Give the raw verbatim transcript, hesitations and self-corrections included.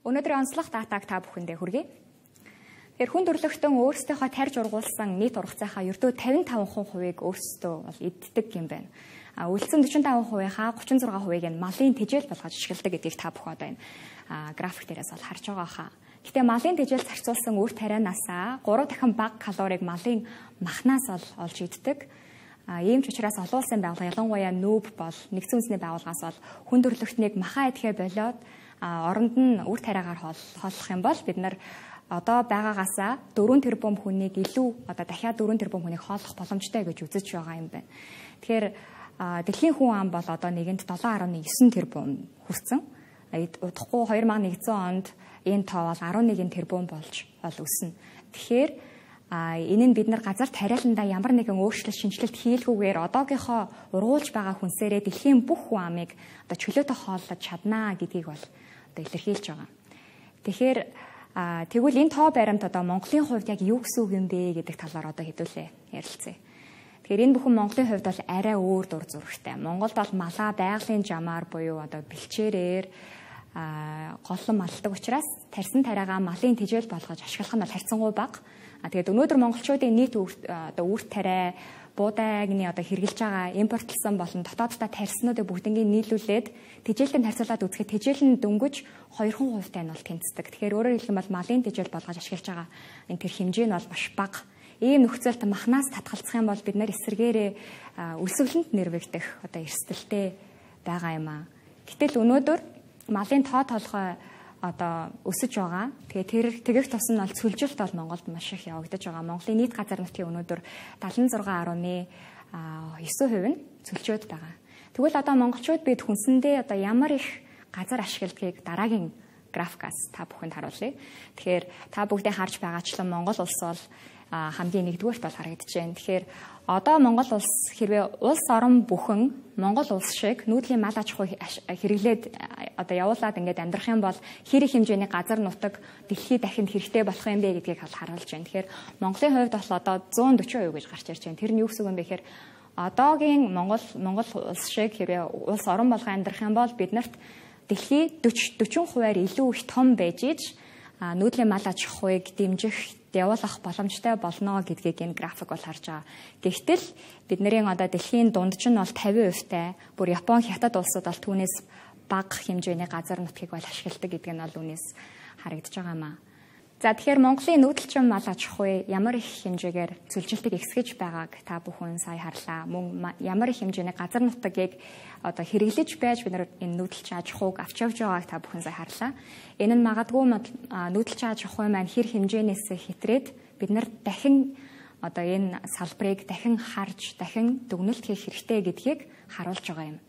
Өнөөдрийн онцлог датаг та бүхэндээ хүргэе. Тэгэхээр хүн төрөлхтөн өөрсдийнхөө тарж ургуулсан нийт ургацынхаа ердөө тавин таван хувийг өөрсдөө бол эддэг юм байна. А үлдсэн дөрвөн таван хувийнхаа гучин зургаан хувийг нь малын тэжээл болгож ашигладаг гэдгийг та бүхэн одоо энэ график дээрээс бол харж байгаа хаа. Гэтэ малын тэжээл зарцуулсан үр тарианасаа гурав дахин бага калорийг малын махнаас бол олж иддэг. А ийм ч учраас олон улсын байгууллага ялангуяа нүүб бол нэгдсэн үндэсний байгууллагаас бол хүн төрөлхтнийг махаа идэхэ болоод оронд нь үр тариагаар хооллох юм бол бид нар одоо байгаагаасаа дөрвөн тэрбум хүнийг илүү одоо дахиад дөрвөн тэрбум хүнийг хооллох боломжтой гэж үзэж байгаа юм байна. Тэгэхээр дэлхийн хүн ам бол одоо нэгэнд долоон гаруй девять тэрбум хүрсэн. Удахгүй хоёр мянга нэгдсэн онд энэ тоо бол арван нэг тэрбум болж ол өснө. Тэгэхээр а энэ нь бид нар газар тариаландаа ямар нэгэн өөрчлөлт шинжилэлт хийлгүүгээр одоогийнхоо ургуулж байгаа хүнсээрээ дэлхийн бүх хүн амыг одоо чөлөөтэй хооллож чаднаа гэдгийг бол одоо илэрхийлж байгаа. Тэгэхээр тэгвэл энэ тоо баримт одоо Монголын хувьд яг юу гэсэн үг юм бэ гэдэг талаар одоо хэдүүлээ ярилцъя. Тэгэхээр энэ бүхэн Монголын хувьд бол арай өөр дур зурагтай. Монголд бол малаа байгалийн жамаар буюу одоо бэлчээрээр голлон малдаг учраас тарьсан тариагаа малын тэжээл болгож ашиглах нь бол харьцангуй бага. А тэгээд өнөөдөр монголчуудын нийт одоо үр тариа буудайгны одоо хэрглэж байгаа импортлсон болон дотооддоо тарьснуудыг бүгднийг нийлүүлээд тэжээлтэнд харьцуулаад үзэхэд тэжээл нь дөнгөж хоёр хувьтай нь бол тэнцдэг. Тэгэхээр өөрөөр хэлбэл малын тэжээл болгож ашиглаж байгаа энэ тэр хэмжээ нь бол маш бага. Ийм нөхцөлд махнаас татгалзах юм бол бид нар эсэргээрээ өлсгөлөнд нэрвэгдэх одоо эрсдэлтэй байгаа юм аа. Гэтэл өнөөдөр малын тоо толгой одоо өсөж байгаа. Тэгээ тэр тэгэх тус нь бол цөлжилт бол Монголд маш их явагдаж байгаа. Монголын нийт газар нутгийн өнөөдөр дадлан зургаан гаруй девять хувь нь цөлчөөд байгаа. Тэгвэл одоо монголчууд бид хүнсэндээ одоо ямар их газар ашигладгийг дараагийн графикаас та бүхэнд харуулъя. Тэгэхээр та бүгдээ харж байгаачлан Монгол улс бол хамгийн нэгдүгээрт бол харагдаж байна. Тэгэхээр одоо Монгол улс хэрвээ улс орон бүхэн Монгол улс шиг нүүдлийн мал аж ахуй хэрэглээд одоо явуулаад ингээд амьдрах юм бол хэр их хэмжээний газар нутаг дэлхийд дахинд хэрэгтэй болох юм бэ гэдгийг харуулж байна. Тэгэхээр Монголын хувьд бол одоо one forty percent гэж гарч ирж байна. Тэр нь юу гэсэн үг юм бэ гэхээр одоогийн Монгол Монгол улс шиг хэрвээ улс орон болгон амьдрах юм бол биднэрт дэлхий forty percent-аар илүү их том байж иж нүүдлийн мал аж ахуйг дэмжих явуулах боломжтой болно гэдгийг энэ график бол харж байгаа. Гэхдээ бидний одоо дэлхийн дундч нь бол fifty percent-тай, бүр Япон, Хятад улсууд бол түүнээс бага хэмжээний газар нутгийг бол ашигладаг гэдэг нь бол үнээс харагдаж байгаа юм аа. За тэгэхээр Монголын нүүдэлчин мал аж ахуй ямар их хэмжээгээр цөлжилтийг ихсгэж байгааг та бүхэн сая харлаа. Мөн ямар их хэмжээний газар нутгийг одоо хэрэглэж байж бид нар энэ нүүдэлчин аж ахуйг авч явж байгааг та бүхэн сая харлаа. Энэ нь магадгүй нүүдэлчин аж ахуй маань хэр хэмжээнээс хэтрээд бид нар дахин одоо энэ салбарыг дахин харж, дахин дүгнэлт хийх хэрэгтэй гэдгийг харуулж байгаа юм.